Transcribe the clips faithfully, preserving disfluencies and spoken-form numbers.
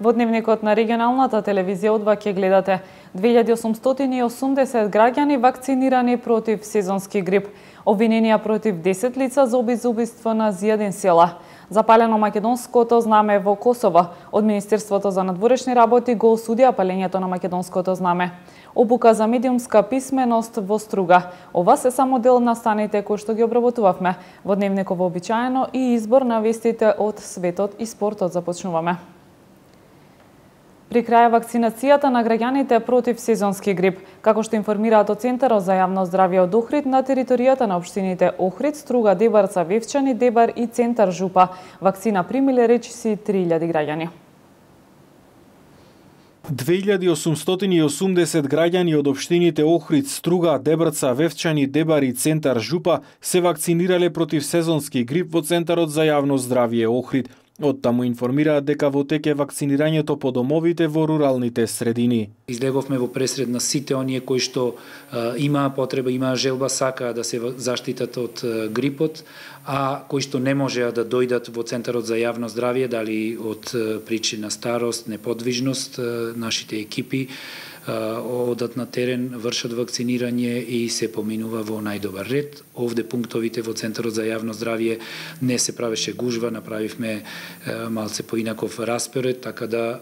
Во дневникот на регионалната телевизија од два ќе гледате две илјади осумстотини и осумдесет граѓани вакцинирани против сезонски грип, обвиненија против десет лица за обид за убиство на зијадин села, запалено македонското знаме во Косово, од Министерството за надворешни работи го осудија палењето на македонското знаме. Обука за медиумска писменост во Струга. Ова се само дел на станите кои што ги обработувавме. Во дневникот вообичаено и избор на вестите од светот и спортот започнуваме. При крај вакцинацијата на граѓаните против сезонски грип, како што информираат од Центарот за јавно здравје од Охрид, на територијата на општините Охрид, Струга, Дебарца, Вевчани, Дебар и Центар Жупа, вакцина примиле речиси три илјади граѓани. две илјади осумстотини и осумдесет граѓани од општините Охрид, Струга, Дебрца, Вевчани, Дебар и Центар Жупа се вакцинирале против сезонски грип во Центарот за јавно здравје Охрид. Од таму информираат дека во тек е вакцинирањето по домовите во руралните средини. Излеговме во пресред на сите оние кои што а, имаа потреба, имаа желба, сакаа да се заштитат од а, грипот, а кои што не можеа да дојдат во Центарот за јавно здравје, дали од а, причина старост, неподвижност, а, нашите екипи одат на терен, вршат вакцинирање и се поминува во најдобар ред. Овде пунктовите во Центарот за јавно здравје не се правеше гужва, направивме малце поинаков распоред, така да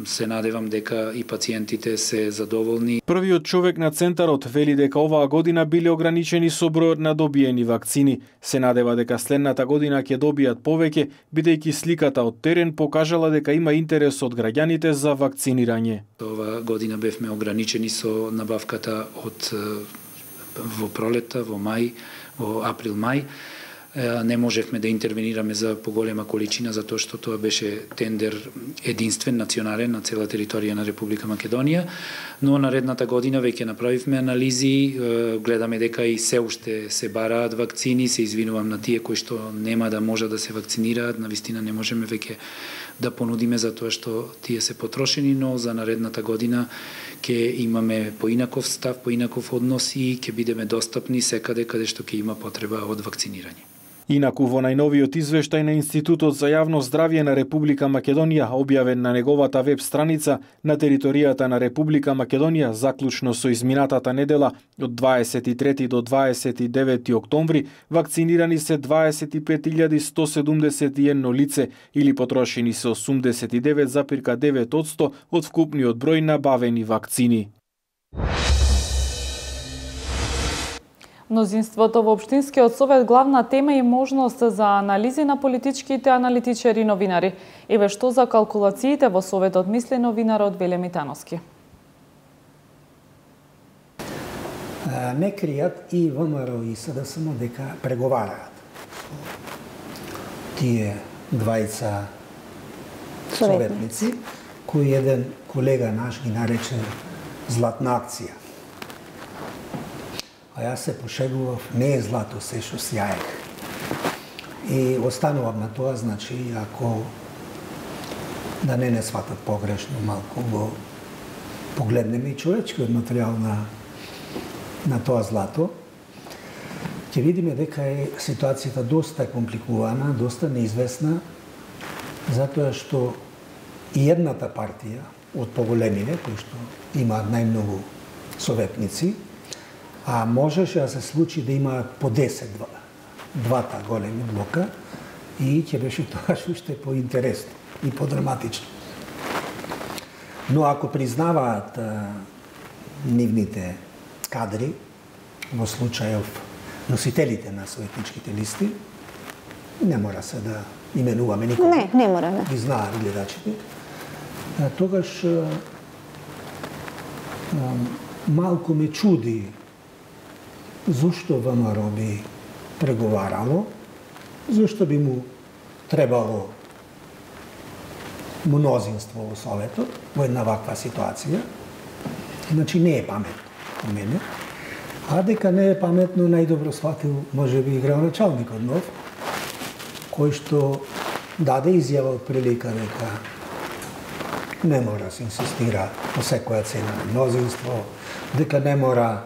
се надевам дека и пациентите се задоволни. Првиот човек на Центарот вели дека оваа година биле ограничени со бројот на добиени вакцини. Се надева дека следната година ќе добијат повеќе, бидејќи сликата од терен покажала дека има интерес од граѓаните за вакцинирање. Оваа година бевме ограничени со набавката од во пролета, во мај, во април-мај. Не можевме да интервенираме за поголема количина, затоа што тоа беше тендер единствен, национален, на цела територија на Република Македонија, но наредната година веќе направивме анализи, гледаме дека и се уште се бараат вакцини, се извинувам на тие кои што нема да може да се вакцинираат, навистина не можеме веќе да понудиме затоа што тие се потрошени, но за наредната година ќе имаме поинаков став, поинаков однос и ќе бидеме достапни секаде каде што ќе има потреба од вакцинирање. Инаку во најновиот извештај на Институтот за јавно здравје на Република Македонија, објавен на неговата веб страница, на територијата на Република Македонија, заклучно со изминатата недела, од дваесет и трети до дваесет и девети октомври, вакцинирани се дваесет и пет илјади сто седумдесет и едно лице, или потрошени се осумдесет и девет запирка девет одсто од вкупниот број набавени вакцини. Мнозинството во Општинскиот совет главна тема и можност за анализи на политичките аналитичари и новинари. Еве што за калкулациите во советот мисли новинарот Веле Митановски. Не кријат и ВМРО и СДСМ дека преговараат. Тие двајца советници, кои еден колега наш ги нарече златна акција. А јас се пошегував, не е злато се што сјаек. И останувам на тоа, значи, ако да не не сватат погрешно малку, го погледнеме и човечкиот материјал на, на тоа злато, ќе видиме дека е ситуацијата доста компликувана, доста неизвестна, затоа што и едната партија од поголемите, кои што имаат најмногу советници, а можеше да се случи да имаат по десет двата големи блока и ќе беше тоа уште поинтересно и подраматично. Но ако признаваат а, нивните кадри, во случајов носителите на советничките листи, не мора се да именуваме никога. Не, не мора, да. Ги знаат гледачите. А, тогаш а, а, малку ме чуди зошто ВМРО би преговарало, зошто би му требало мнозинство во Советот во една ваква ситуација. Значи не е паметно по мене. А дека не е паметно, најдобро сватил може би градоначалникот нов, кој што даде изјава од прилика дека не мора се инсистира по секоја цена на мнозинство, дека не мора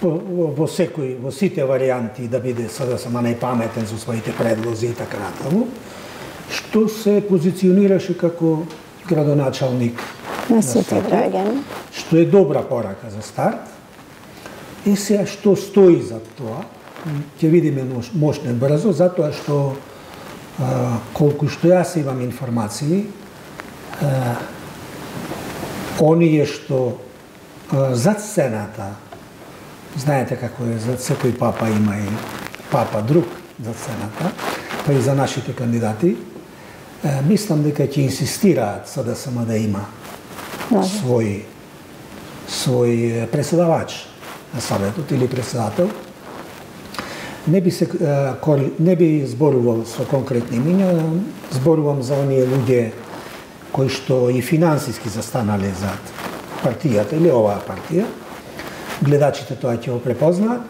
во секој, во сите варијанти да биде СДСМ најпаметен со своите предлози и така натаму, што се позиционираше како градоначалник на сите граѓани. Што е добра порака за старт. И сега што стои за тоа, ќе видиме мошне брзо, затоа што а, колку што јас имам информации, а, оние што а, зад сцената, знаете како е, зад секој папа има и папа друг зад сцената, па и за нашите кандидати, а, мислам дека ќе инсистираат за да сама да има свој свој преседавач на Советот или председател. Не би се не би зборувал со конкретни имиња, зборувам за оние луѓе кои што и финансиски застанале зад партијата или оваа партија. Гледачите тоа ќе го препознаат.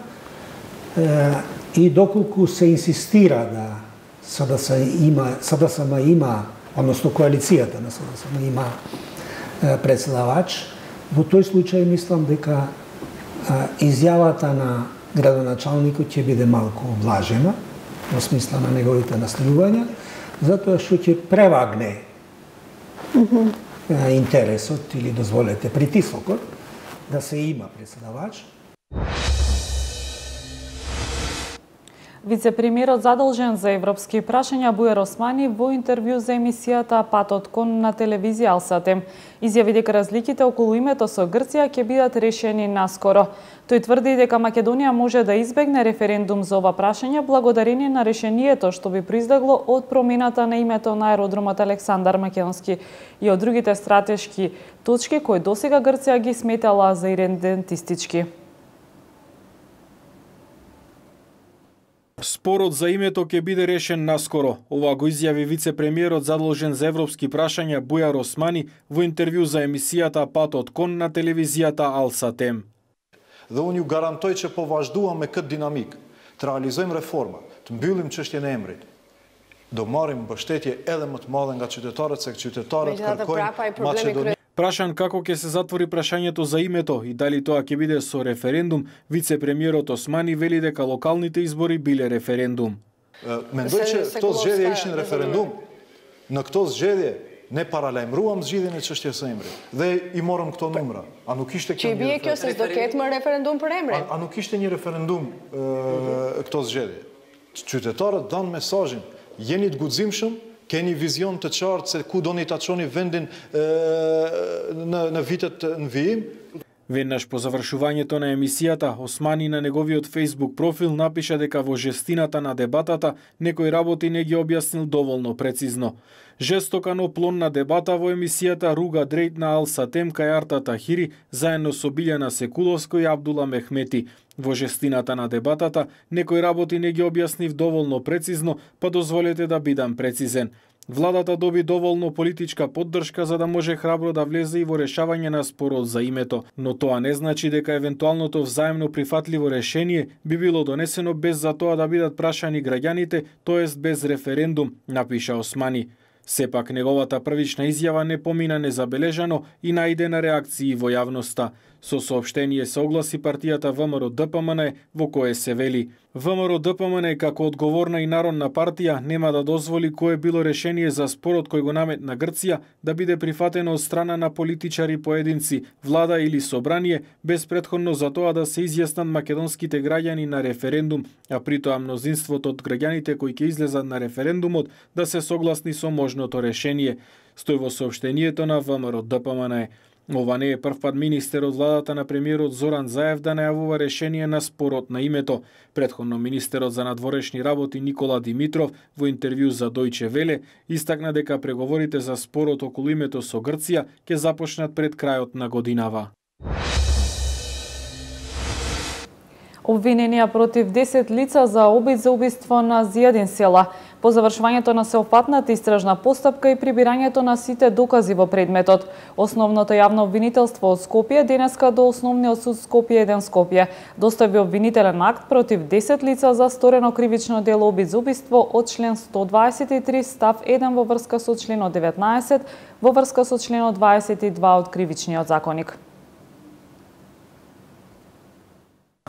И доколку се инсистира да СДС има, СДСМ има, односно коалицијата на СДСМ има председавач, во тој случај мислам дека изјавата на градоначалникот ќе биде малку влажена во смисла на неговите настојувања, затоа што ќе превагне mm-hmm. интересот или дозволете притисокот да се има председавач. Вице-премиерот задолжен за европски прашања Бујар Османи во интервју за емисијата Патот кон на телевизија Алсатем изјави дека разликите околу името со Грција ќе бидат решени наскоро. Тој тврди дека Македонија може да избегне референдум за ова прашање благодарение на решението што би произлегло од промената на името на аеродромот Александар Македонски и од другите стратешки точки кои досега Грција ги сметала за иридентистички. Спорот за името ќе биде решен наскоро. Ова го изјави вице-премиерот задолжен за европски прашања Бујар Османи во интервју за емисијата Патот кон на телевизијата Алсатем. Dhe unë ju garantoj që po vazhduam me këtë dinamik, të realizojmë reforma, të mbyllim çështjen e emrit. Do marrim mbështetje edhe më të madhe nga qytetarët, se qytetarët kërkojnë Maqedoni. Прашан како ќе се затвори прашањето за името и дали тоа ќе биде со референдум, вице-премиерот Османи вели дека локалните избори биле референдум. Mendoj që këto zgjedhje ishin referendum. Në këto zgjedhje ne paralajmëruam zgjidhjen e çështjes së emrit dhe i morëm këto numra. A nuk ishte kjo? Që bie kjo se do ketë më referendum për emrin? A nuk ishte një referendum këto zgjedhje? Qytetarët dan mesazhin, jeni të guximshëm, keni vizion të qartë se ku doni ta çoni vendin në në vitet në vijim. Веднаш по завршувањето на емисијата, Османи на неговиот Facebook профил напиша дека во жестината на дебатата некои работи не ги објаснил доволно прецизно. Жестока но плонна дебата во емисијата Руга Дрейт на Алсатем кај Арта Тахири заедно со Билјана Секуловско и Абдула Мехмети. Во жестината на дебатата некои работи не ги објаснив доволно прецизно, па дозволете да бидам прецизен. Владата доби доволно политичка поддршка за да може храбро да влезе и во решавање на спорот за името, но тоа не значи дека евентуалното взаемно прифатливо решение би било донесено без за тоа да бидат прашани граѓаните, тоест без референдум, напиша Османи. Сепак неговата првична изјава не помина незабележано и најде на реакции во јавноста. Со соопштение се огласи партијата ВМРО-ДПМН во кое се вели: ВМРО-ДПМН како одговорна и народна партија нема да дозволи кое било решение за спорот кој го наметна Грција да биде прифатено од страна на политичари поединци, влада или собрание, без претходно за тоа да се изјаснат македонските граѓани на референдум, а при тоа мнозинството од граѓаните кои ќе излезат на референдумот да се согласни со можното решение, стои во соопштението на ВМРО-ДПМН. Ова не е првпат министер од владата на премиерот Зоран Заев да најавува решение на спорот на името. Претходно министерот за надворешни работи Никола Димитров во интервју за Дојче Веле истакна дека преговорите за спорот околу името со Грција ќе започнат пред крајот на годинава. Обвиненија против десет лица за обид за убиство на Зијадин Села. По завршувањето на сеопфатната истражна постапка и прибирањето на сите докази во предметот, основното јавно обвинителство од Скопје денеска до Основниот суд Скопје еден Скопје достави обвинителен акт против десет лица за сторено кривично дело обид за убиство од член сто дваесет и три став еден во врска со членот деветнаесет во врска со членот дваесет и два од Кривичниот законник.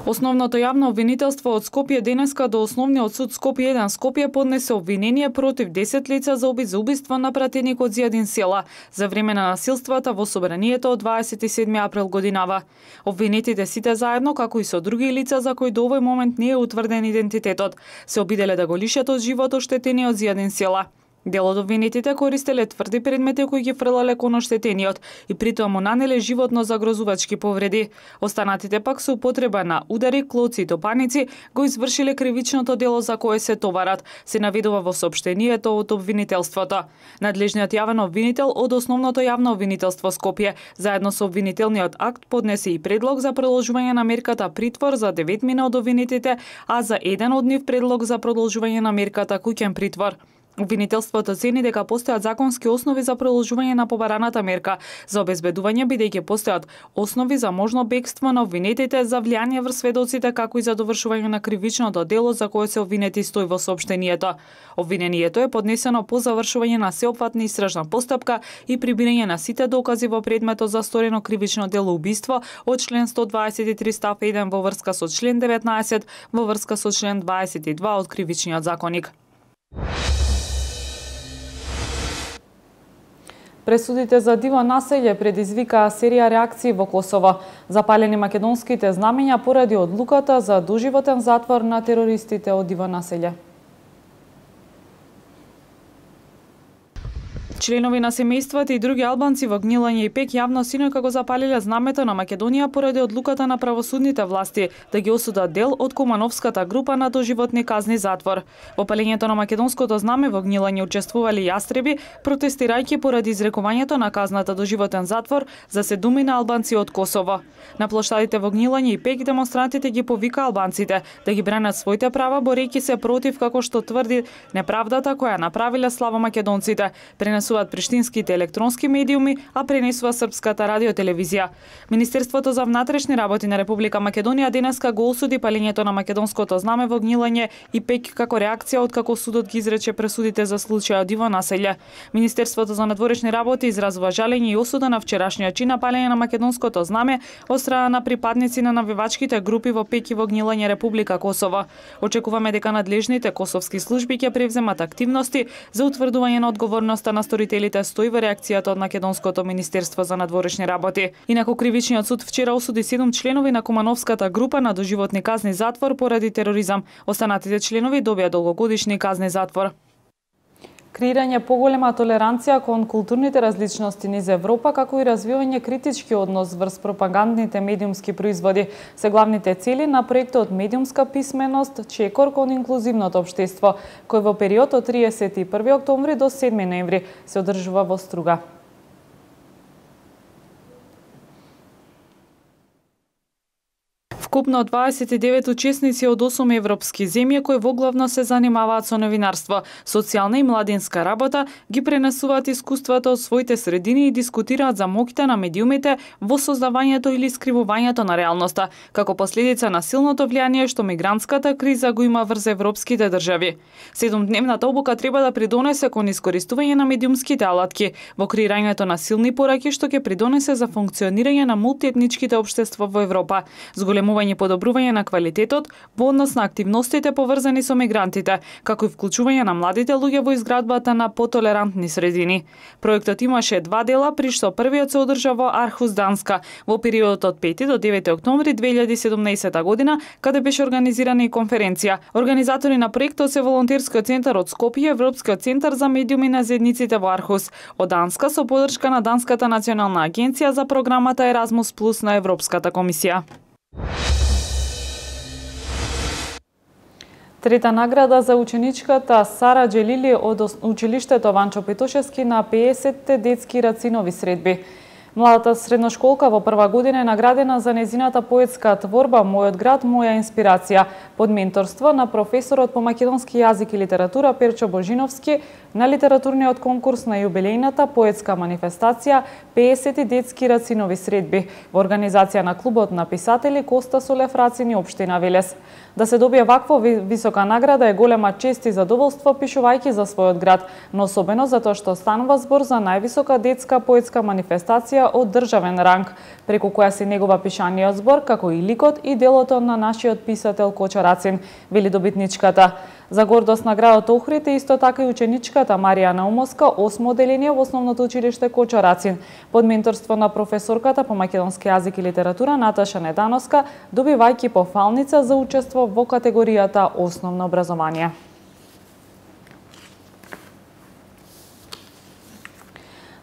Основното јавно обвинителство од Скопје денеска до Основниот суд Скопје еден Скопје поднесе обвинение против десет лица за обид за убиство на пратеникот Зијадин Села за време на насилствата во собранието од дваесет и седми април годинава. Обвинетите сите заедно, како и со други лица за кои до овој момент не е утврден идентитетот, се обиделе да го лишат од живот оштетениот Зијадин Села. Дел од обвинетите користеле тврди предмети кои ги фрлале кон оштетениот и притоа му нанеле животно загрозувачки повреди. Останатите пак со употреба на удари, клоци и топаници го извршиле кривичното дело за кое се товарат, се наведува во соопштението од обвинителството. Надлежниот јавен обвинител од Основното јавно обвинителство Скопје, заедно со обвинителниот акт, поднесе и предлог за продолжување на мерката притвор за деветмина од обвинетите, а за еден од нив предлог за продолжување на мерката куќен притвор. Обвинителството цени дека постојат законски основи за продолжување на побараната мерка за обезбедување, бидејќи постојат основи за можно бегство на обвинетите, за влијание врз сведоците, како и за довршување на кривичното дело за кое се обвинети, стои во соопштението. Обвинението е поднесено по завршување на сеопфатна истражна постапка и прибирање на сите докази во предметот за сторено кривично дело убиство од член сто дваесет и три став еден во врска со член деветнаесет во врска со член дваесет и два од Кривичниот законник. Пресудите за диво населје предизвикаа серија реакции во Косово. Запалени македонските знамења поради одлуката за доживотен затвор на терористите од диво населје. Членови на семејствата и други албанци во Гнилање и Пек јавно синојка го запалиле знамето на Македонија поради одлуката на правосудните власти да ги осудат дел од Кумановската група на доживотни казни затвор. Во палењето на македонското знаме во Гнилање учествували јастреби, протестирајќи поради изрекувањето на казната доживотен затвор за седумина албанци од Косово. На плоштадите во Гнилање и Пек демонстрантите ги повика албанците да ги бранат своите права, борејќи се против, како што тврди, неправдата која направиле славомакедонците. Пренесуваат приштинските електронски медиуми, а пренесува српската радиотелевизија. Министерството за внатрешни работи на Република Македонија денеска го осуди палењето на македонското знаме во Гнилање и Пек како реакција од како судот ги изрече пресудите за случајот диво населје. Министерството за надворешни работи изразува жалење и осуда на вчерашниот чин на палење на македонското знаме од страна на припадници на навивачките групи во Пек и во Гнилање, Република Косово. Очекуваме дека надлежните косовски служби ќе превземат активности за утврдување на одговорноста на сторителите, стои во реакцијата од Македонското Министерство за надворешни работи. Инаку Кривичниот суд вчера осуди седум членови на Кумановската група на доживотни казни затвор поради тероризам. Останатите членови добија долгогодишни казни затвор. Креирање поголема толеранција кон културните различности низ Европа, како и развивање критички однос врз пропагандните медиумски производи се главните цели на проектот Медиумска писменост, чекор кон инклузивното општество, кој во период од триесет и први октомври до седми ноември се одржува во Струга. Вкупно дваесет и девет учесници од осум европски земји кои воглавно се занимаваат со новинарство, социјална и младинска работа, ги пренесуваат искуствата од своите средини и дискутираат за моќта на медиумите во создавањето или скривувањето на реалноста, како последица на силното влијание што мигрантската криза го има врз европските држави. Седумдневната обука треба да придонесе кон искористување на медиумските алатки во креирањето на силни пораки што ќе придонесе за функционирање на мултиетничките општества во Европа, зголемување и подобрување на квалитетот во однос на активностите поврзани со мигрантите, како и вклучување на младите луѓе во изградбата на потолерантни средини. Проектот имаше два дела, при што првиот се одржа во Архус, Данска, во периодот од пети до девети октомври две илјади и седумнаесета година, каде беше организирана и конференција. Организатори на проектот се Волонтерскиот центар од Скопје, Европскиот центар за медиуми на заедниците во Архус, од Данска со поддршка на Данската национална агенција за програмата Еразмус плюс на Европската комисија. Трета награда за ученичката Сара Джелили од училиштето Ванчо Петошевски на пеесетте детски рацинови средби. Младата средношколка во прва година е наградена за незината поетска творба Мојот град, моја инспирација, под менторство на професорот по македонски јазик и литература Перчо Божиновски на литературниот конкурс на јубилејната поетска манифестација пеесет детски рацинови средби во организација на клубот на писатели Коста Солев Рацин и општина Велес. Да се добие ваква висока награда е голема чест и задоволство пишувајќи за својот град, но особено затоа што станува збор за највисока детска поетска манифестација од државен ранг, преку која се негова пишаниот збор, како и ликот и делото на нашиот писател Кочо Рацин, вели добитничката. За гордост на градот Охрид е исто така и ученичката Марија Наумовска, осмо оделение во основното училиште Кочо Рацин, под менторство на професорката по македонски јазик и литература Наташа Недановска, добивајќи пофалница за учество во категоријата основно образование.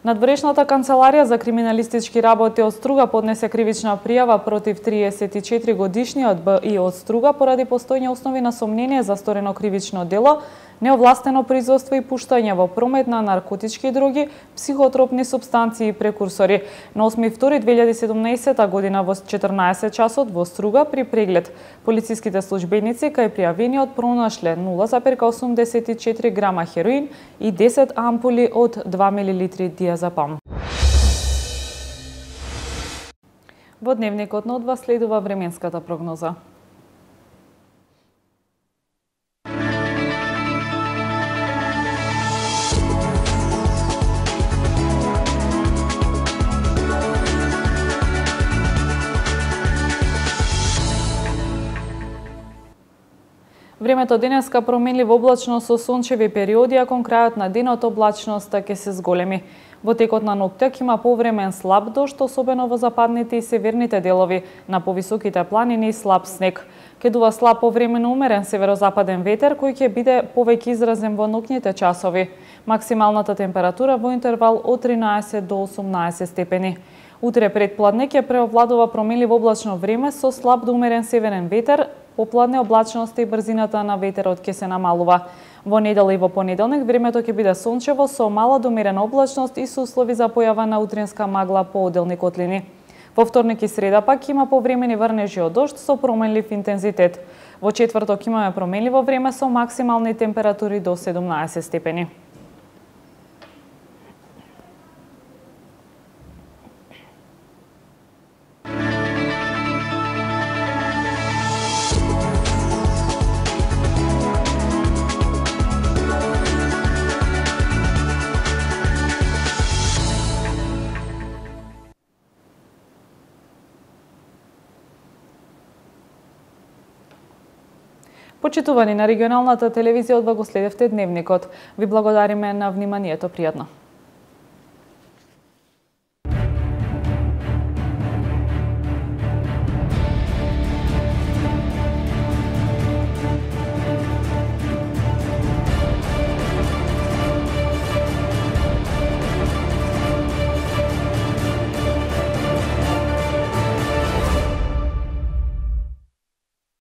Надворешната канцеларија за криминалистички работи од Струга поднесе кривична пријава против триесет и четири годишниот Б И од Струга поради постојни основи на сомнение за сторено кривично дело, неовластено производство и пуштање во промет на наркотички дроги, психотропни супстанции и прекурсори. На осми втори две илјади и седумнаесета година во четрнаесет часот во Струга при преглед полициските службеници кај пријавениот пронашле нула зарез осумдесет и четири грама хероин и десет ампули од два милилитри диазепам. Во дневникот на одва следува временската прогноза. Времето денеска променливо облачно со сончеви периоди, а кон крајот на денот облачноста ќе се зголеми. Во текот на ноќта има повремен слаб дожд, особено во западните и северните делови, на повисоките планини и слаб снег. Ќе дува слаб повремено умерен северозападен ветер кој ќе биде повеќе изразен во ноќните часови. Максималната температура во интервал од тринаесет до осумнаесет степени. Утре предпладне ќе преовладува променливо облачно време со слаб до умерен северен ветер, попладне облачноста и брзината на ветерот ќе се намалува. Во недела и во понеделник времето ќе биде сончево со мала до умерена облачност и со услови за појава на утринска магла по оделни котлини. Во вторник и среда пак има повремени врнежи од дожд со променлив интензитет. Во четврток имаме променливо време со максимални температури до седумнаесет степени. Почитувани на регионалната телевизија, одва го следевте дневникот. Ви благодариме на вниманието, пријатно.